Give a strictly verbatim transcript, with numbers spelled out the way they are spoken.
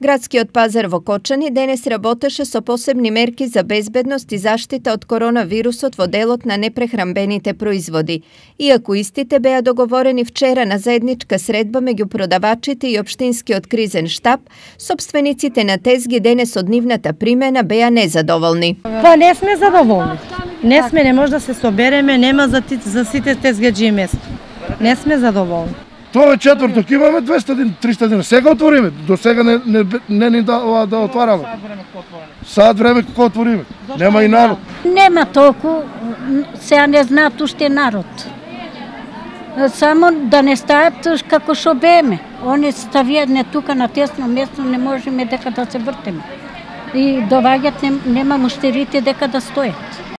Градскиот пазар во Кочани денес работеше со посебни мерки за безбедност и заштита од коронавирусот во делот на непрехранбените производи. Иако истите беа договорени вчера на заедничка средба меѓу продавачите и општинскиот кризен штаб, сопствениците на тезги денес од нивната примена беа незадоволни. Па не сме задоволни. Не сме, не може да се собереме, нема за, ти, за сите тезгаджи место. Не сме задоволни. Тоа е четврток, имаме двеста дена, триста дена. Сега отвориме, до сега не не не ни да, да отвараме. Сад време како отвориме. Нема и народ. Нема толку, сега не знаат уште народ. Само да не стаат како што беме. Они ставиат не тука на тесно место, не можеме дека да се вртеме. И доваѓат, нема муштерите дека да стојат.